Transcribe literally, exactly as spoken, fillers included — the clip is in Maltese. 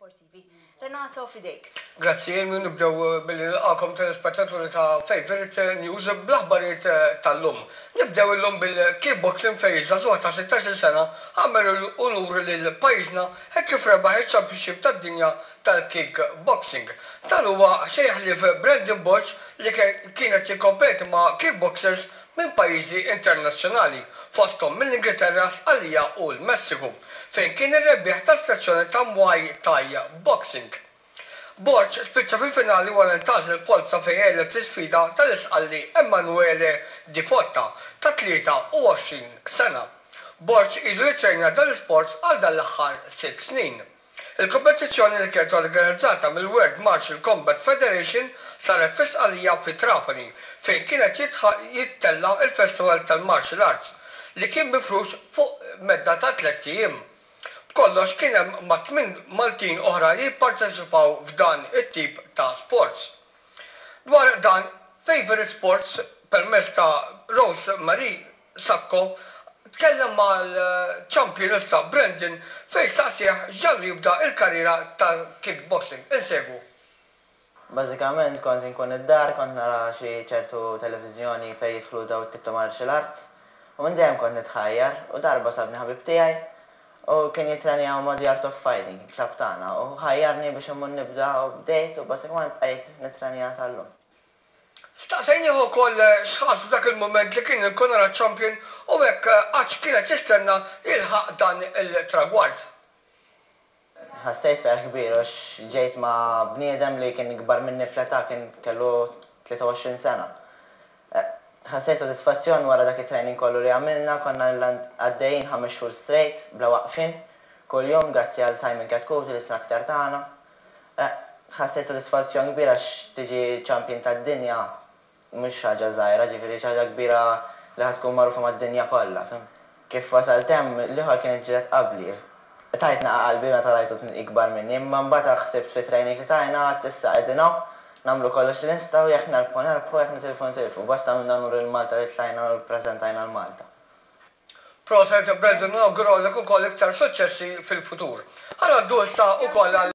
sportivi. Renato, f'idejk. Grazzi, Amy. Nibdew billi nilqagħkom, telespettaturi ta' Favorite News, bl-aħbarijiet tal-lum. Nibdew illum bil-kickboxing, fejn żagħżugħ ta' sittax-il sena għamel unur lil pajjiżna hekk kif rebaħ il-Championship tad-dinja tal-kickboxing. Dan huwa xejn ħlief Brandon Borg, li kienet jikkompeti ma' kickboxers minn pajjiżi internazzjonali, fosthom mill-Ingilterra, Sqallija u l-Messiku, fejn kien ir-rebbieħ tas-sezzjoni ta' Muay Thai Boxing. Borg spiċċa fil-finali wara ntgħażel polza fejn għeleb l-isfida tal-Isqalli Emanuele Di Fotta ta' tlieta u għoxrin sena. Borg ilu jitrejna dan l-sport għal dan l-aħħar sitt snin. Il-kompetizzjoni, li kienet organizzata mill-World Martial Combat Federation, saret fi Sqallija, fi Trapani, fejn kienet jittella il-Festival tal-Martial Arts li kien mifrux fuq medda ta' tlett ijiem. B'kollox kien hemm ma' tmien Maltin oħra li jipparteċipaw f'dan it-tip ta' sports. Dwar dan, Favorite Sports permezz ta' Rose Marie Sacco tkellem mal-champion issa Brandon, fejn staqsieh x'ġagħlu jibda il-karriera tal-kickboxing. Insegwu. Bażikament kont inkun id-dar, kont nara xi ċertu televiżjoni fejn jidħlu daw tip ta' martial arts. U minn dejjem kont nitħajjar u darba sabni ħabib tiegħi u kien jitrenjaw ma' The Art of Fighting, club tagħna, u ħajjarni biex immur nibda u bdejt u bażikament bqajt nitrenja sal-lum. Staqsejnieh ukoll x'ħass f'dak il-moment li kien inkurunat champion u hekk għax kienet jistenna jilħaq dan il-tragward. Ħassejt ferħ kbir għax ġejt ma' bniedem li kien ikbar minni fl-età, kien kellu tlieta u għoxrin sena. Eh, Ħassejt sodisfazzjon wara dak it-training kollu li għamilna, konna għaddejjin ħames xhur straight, bla waqfin, kull-jum, grazzi għal Simon Chetcuti, l-instructor tagħna. Eh, Ħassejt sodisfazzjon kbir għax tiġi champion tad-dinja mhux ħaġa żgħira, ġifieri xi ħaġa kbira li ħa tkun magħrufa mad-dinja kollha, fhimt? Kif wasalt hemm, l-ieħor kien iġġieled qabli. Tajt naqa qalbi meta rajtu ikbar minni, imma mbagħad ħsibt fi training li tajna, għedt issa qegħdin hawn, nagħmlu kollox li nistgħu, jekk nerbħu nerbħu, jekk nitilfu nitilfu. Basta għamilna unur lil Malta li tlajna u ppreżentajna lil Malta. Proset, Brandon, nawguralek ukoll iktar suċċessi fil-futur. Ħa ngħaddu issa ukoll għal